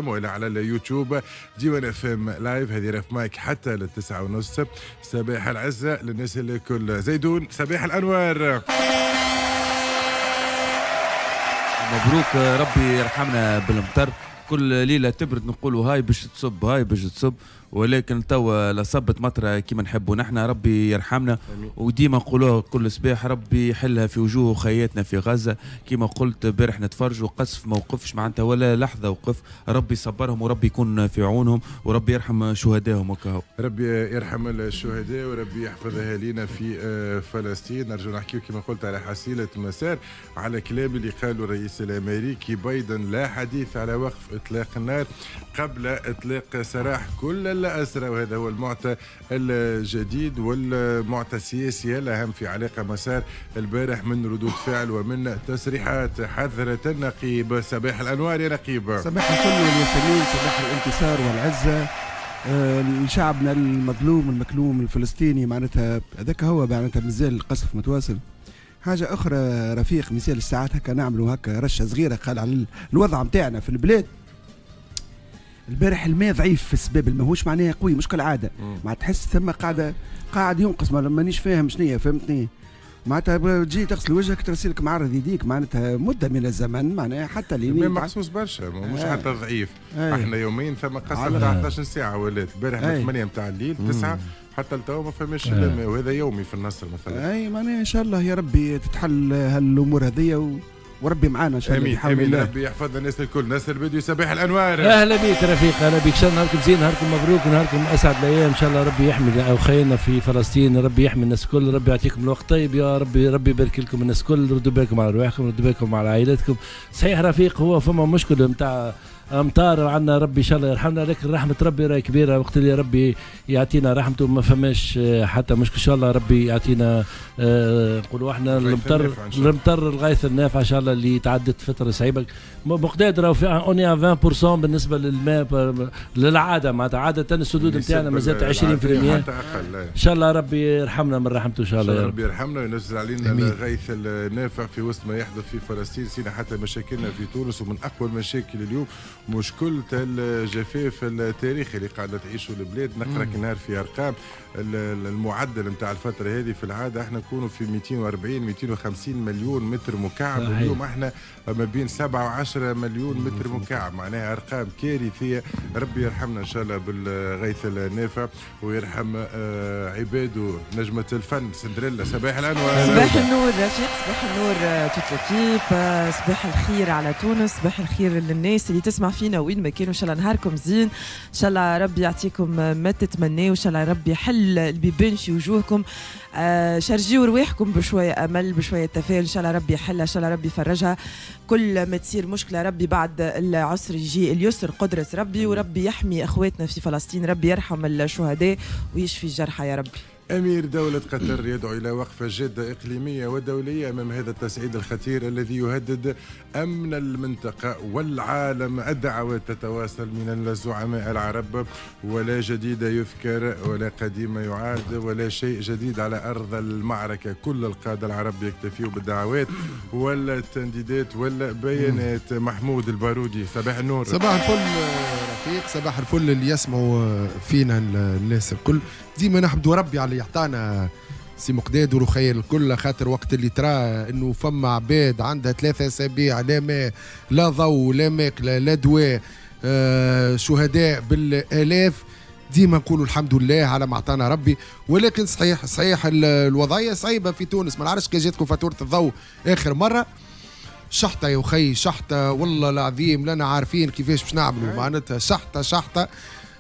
وإلى على اليوتيوب ديوان FM live. هذه رف مايك حتى 9:30. صباح العزة للناس الكل. زيدون صباح الأنوار، مبروك، ربي يرحمنا بالمطر. كل ليلة تبرد نقولوا هاي باش تصب هاي باش تصب، ولكن توا لا صبت مطره كيما نحبوا نحن. ربي يرحمنا، وديما نقولوها كل صباح، ربي يحلها في وجوه خياتنا في غزة. كيما قلت امبارح نتفرجوا قصف ما وقفش معناتها ولا لحظة وقف. ربي يصبرهم وربي يكون في عونهم وربي يرحم شهدائهم وكهو. ربي يرحم الشهداء وربي يحفظ اهالينا في فلسطين. نرجو نحكيو كيما قلت على حصيله مسار، على كلام اللي قاله الرئيس الامريكي بايدن، لا حديث على وقف اطلاق النار قبل اطلاق سراح كل الأسرى، وهذا هو المعطى الجديد والمعطى السياسي الأهم في علاقة مسار البارح من ردود فعل ومن تصريحات. حذرة النقيب، صباح الأنوار يا نقيب. صباح الفل والياسمين، صباح الانتصار والعزة لشعبنا المظلوم المكلوم الفلسطيني. معناتها هذاك هو، معناتها مازال القصف متواصل. حاجة أخرى رفيق، مثال الساعات هكا نعملوا هكا رشة صغيرة قال على الوضع نتاعنا في البلاد. البارح الماء ضعيف في السباب، ماهوش معناها قوي مش كالعادة، ما تحس ثم قاعد ينقص، مانيش فاهم شنيا، فهمتني؟ معناتها تجي تغسل وجهك ترسلك معرض يديك، معناتها مده من الزمن، معناها حتى الماء محسوس برشا، مش حتى ضعيف. احنا يومين ثم قصر تاع 12 ساعة ولات البارح من 8 نتاع الليل 9 حتى لتوا ما فماش الماء، وهذا يومي في النصر مثلا. اي معناها ان شاء الله يا ربي تتحل هالامور هذيا وربي معانا ان شاء الله. امين امين، ربي يحفظنا الناس الكل. ناس البدوي صباح الانوار، اهلا بك رفيق، اهلا بك. ان شاء الله نهاركم زين، نهاركم مبروك، نهاركم اسعد الايام ان شاء الله. ربي يحمي اخينا في فلسطين، ربي يحمي الناس الكل، ربي يعطيكم الوقت طيب يا ربي، ربي يبارك لكم الناس الكل. ردوا بالكم على رواحكم، ردوا بالكم على عائلاتكم. صحيح رفيق، هو فما مشكل نتاع امطار عندنا، ربي ان شاء الله يرحمنا، لكن رحمه ربي راهي كبيرة. وقت اللي ربي يعطينا رحمته ما فماش حتى مشكل. ان شاء الله ربي يعطينا نقولوا احنا المطر، المطر الغيث النافع ان شاء الله، اللي تعدت فترة صعيبة. مقداد راهو في on est 20% بالنسبة للماء للعادة، معناتها عادة السدود نتاعنا مازالت 20%. ان شاء الله ربي يرحمنا من رحمته ان شاء الله. ربي يرحمنا وينزل علينا الغيث النافع في وسط ما يحدث في فلسطين. سينا حتى مشاكلنا في تونس، ومن اقوى المشاكل اليوم مشكلة الجفاف التاريخي اللي قاعدة تعيشه البلاد. نقرا نهار في أرقام المعدل نتاع الفترة هذه، في العادة احنا نكونوا في 240 250 مليون متر مكعب، اليوم احنا ما بين 7 و10 مليون متر مكعب، معناها أرقام كارثية. ربي يرحمنا إن شاء الله بالغيث النافع ويرحم عباده. نجمة الفن سندريلا، صباح الأنوار. صباح النور رفيق، صباح النور toute l'équipe، صباح الخير على تونس، صباح الخير للناس اللي تسمع فينا وين ما كانوا. ان شاء الله نهاركم زين، ان شاء الله ربي يعطيكم ما تتمناو، ان شاء الله ربي يحل البيبان في وجوهكم. شرجيوا رواحكم بشوية امل، بشوية تفاؤل، ان شاء الله ربي يحلها، ان شاء الله ربي يفرجها. كل ما تصير مشكلة ربي بعد العسر يجي اليسر، قدره ربي، وربي يحمي اخواتنا في فلسطين، ربي يرحم الشهداء ويشفي الجرحى يا ربي. أمير دولة قطر يدعو إلى وقفة جادة إقليمية ودولية أمام هذا التصعيد الخطير الذي يهدد أمن المنطقة والعالم. الدعوات تتواصل من الزعماء العرب، ولا جديد يذكر ولا قديم يعاد ولا شيء جديد على أرض المعركة. كل القادة العرب يكتفيوا بالدعوات والتنديدات والبيانات. محمود البارودي صباح النور. صباح الفل رفيق، صباح الفل اللي يسمعوا فينا الناس الكل. ديما نحمدوا ربي على اللي يعطانا سي مقداد ورخيل الكل، خاطر وقت اللي ترى انه فما عباد عندها 3 اسابيع لا ماء لا ضوء لا ماكله لا دواء، شهداء بالالاف، ديما نقولوا الحمد لله على ما عطانا ربي. ولكن صحيح صحيح الوضعية صعيبة في تونس. ما نعرفش كي جاتكم فاتورة الضوء اخر مرة، شحطه يا وخي شحطه، والله العظيم لنا عارفين كيفاش باش نعملوا، معناتها شحطه شحطه.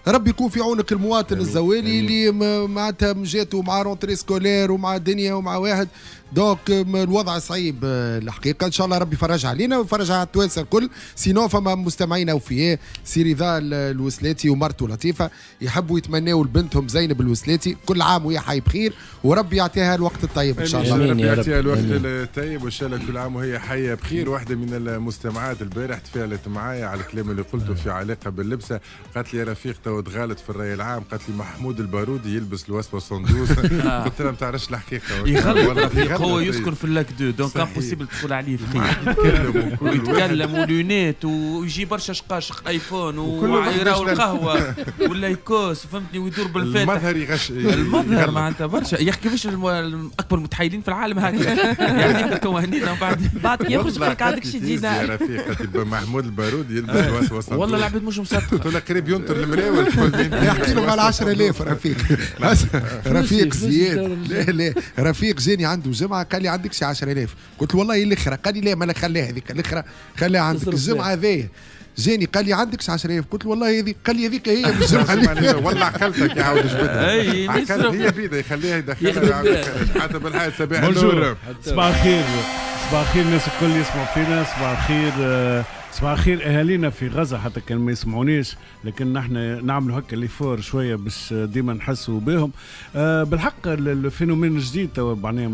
ربي يكون في عونك المواطن الزوالي اللي معناتها جاتو مع rentrée scolaire ومع دنيا ومع واحد، donc الوضع صعيب الحقيقة. ان شاء الله ربي يفرجها علينا ويفرجها على التوانسة الكل. sinon فما مستمعين اوفياء، سي رضا الوسلاتي ومرته لطيفة يحبوا يتمناوا لبنتهم زينب الوسلاتي كل عام وهي حي بخير، وربي يعطيها الوقت الطيب ان شاء الله. ربي يعطيها الوقت الطيب وان شاء الله كل عام وهي حيه بخير. واحدة من المستمعات البارح تفاعلت معايا على الكلام اللي قلته في علاقة باللبسه، قالت لي يا رفيق تو تغالط في الراي العام، قالت لي محمود البارودي يلبس الوسوسة صندوق. قلت لها ما تعرفش الحقيقة، يغلط. هو يسكن في ال Lac 2، donc impossible تقول عليه فقير. ويتكلم و lunettes ويجي برشا شقاشق iPhone ويراو القهوة ولا يكوس، فهمتني، ويدور بالفاتح. المظهر يغش، المظهر معناتها برشا. يا اخي كيفاش اكبر متحيلين في العالم هكا يعني توهنينا بعد كي يخرج يقول لك عندك شي دينار. يا رفيق محمود البارودي يلبس وسط، والله العباد مش مصدقه، تقول قريب ينطر المراول. احكي لهم على 10000 رفيق. رفيق زياد، لا لا رفيق جاني عنده جمعه قال لي عندك شي 10000، قلت له والله الاخرى، قال لي لا ما خليها هذيك الاخرى خليها عندك. الجمعة هذايا جاني قال لي عندك 10000، قلت له والله هذيك، قال لي هذيك هي الجمعة. والله عقلتك يعاود جبدها، هي بيده يخليها يدخلها حتى بالحياة. صباح النور، صباح الخير، صباح الخير الناس الكل يسمعوا فينا، صباح الخير، صباح الخير اهالينا في غزة حتى كان ما يسمعونيش، لكن نحن نعملوا هكا l'effort شوية باش ديما نحسوا بهم. بالحق ال phénomène الجديد توا معناها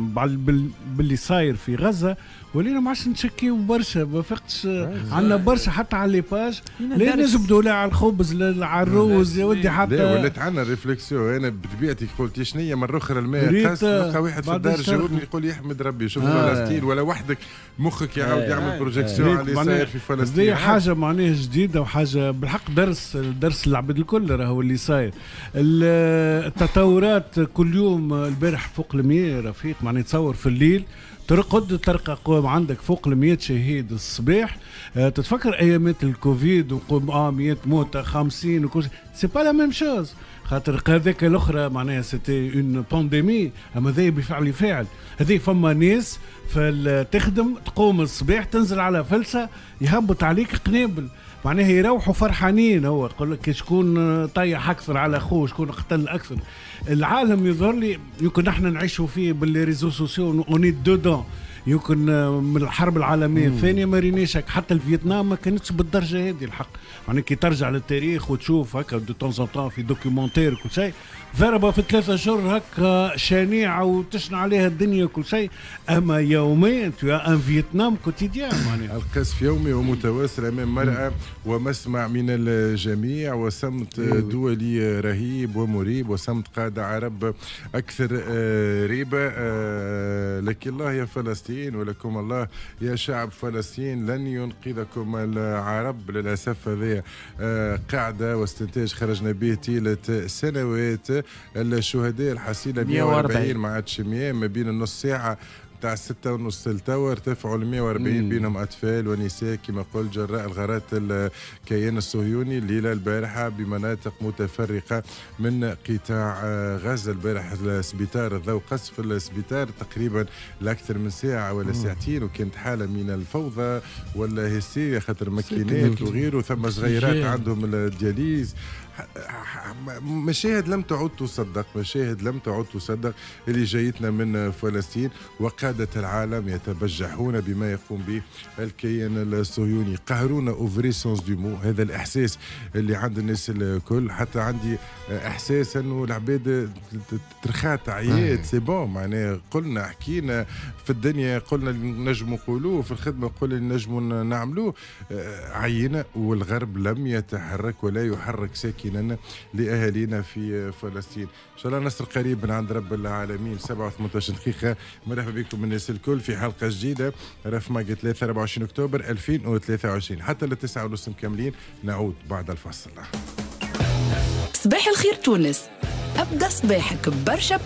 باللي صاير في غزة ولينا ما عادش نشكيو برشا، ما فقتش عندنا برشا حتى على les pages، لا نجبدوا لا على الخبز لا على الروز يا ودي حتى لا ولات عندنا réflexion. انا بطبيعتي قلت شنية مرة اخرى الماء قاس، نلقى واحد في الدار جاوبني يقول لي احمد ربي شوف فلسطين، ولا وحدك مخك يعاود يعمل projection على اللي صاير في فلسطين. هذه حاجة معناها جديدة وحاجه بالحق درس العباد الكل راهو اللي صاير. التطورات كل يوم، البارح فوق 100 رفيق، معناها تصور في الليل ترقد تلقى قوم عندك فوق 100 شهيد الصباح. تتفكر ايامات الكوفيد وقوم 100 موتى 50 وكل شيء، c'est pas la même chose، خاطر هذاك الاخرى معناها c'était une pandémie، اما ذا بفعل فاعل. هذه فما ناس تخدم تقوم الصباح تنزل على فلسه يهبط عليك قنابل، معناها يروحوا فرحانين، هو يقول لك شكون طيح اكثر على اخوه، شكون قتل اكثر. العالم يظهر لي يمكن نحن نعيشوا فيه ب les réseaux sociaux on est dedans، يمكن من الحرب العالمية الثانية ما ريناش حتى الفيتنام ما كانتش بالدرجة هذه الحق. يعني كي ترجع للتاريخ وتشوف هكا de temps en temps في documentaire كل شيء، ضربه في 3 اشهر هكا شنيعه وتشنع عليها الدنيا كل شيء، اما يوميا tu as un Vietnam quotidien. معناها القصف يومي ومتواصل امام مرأى ومسمع من الجميع، وصمت دولي رهيب ومريب، وصمت قادة عرب اكثر ريبه. لك الله يا فلسطين ولكم الله يا شعب فلسطين، لن ينقذكم العرب للاسف. هذه قاعدة واستنتاج خرجنا به طيلة سنوات. الشهداء الحصيلة 140 ما عادش 100، ما بين النص ساعة تاع 6:30 لتوا ارتفعوا ل 140، بينهم اطفال ونساء كما قلت، جراء الغارات الكيان الصهيوني الليلة البارحة بمناطق متفرقة من قطاع غزة. البارح السبيطار الضوء قصف السبيطار تقريبا لاكثر من ساعة ولا ساعتين، وكانت حاله من الفوضى ولا هستيريا خاطر ماكينات وغيره، ثم صغيرات عندهم ال dialyse. مشاهد لم تعد تصدق، مشاهد لم تعد تصدق اللي جايتنا من فلسطين، وقادة العالم يتبجحون بما يقوم به الكيان الصهيوني. قهرونا au vrai sens du mot، هذا الإحساس اللي عند الناس الكل. حتى عندي إحساس أنه العباد ترخات عيات، c'est bon معناها قلنا حكينا في الدنيا، قلنا اللي نجموا نقولوه في الخدمة، قلنا اللي نجموا نعملوه، عينة، والغرب لم يتحرك ولا يحرك ساكنا لأهالينا في فلسطين. إن شاء الله نصر قريب من عند رب العالمين. 7:18 دقيقة، مرحبا بكم الناس الكل في حلقة جديدة رف ماجي 3 24 أكتوبر 2023 حتى 9:30 مكملين. نعود بعد الفاصل. صباح الخير تونس، أبدأ صباحك برشا.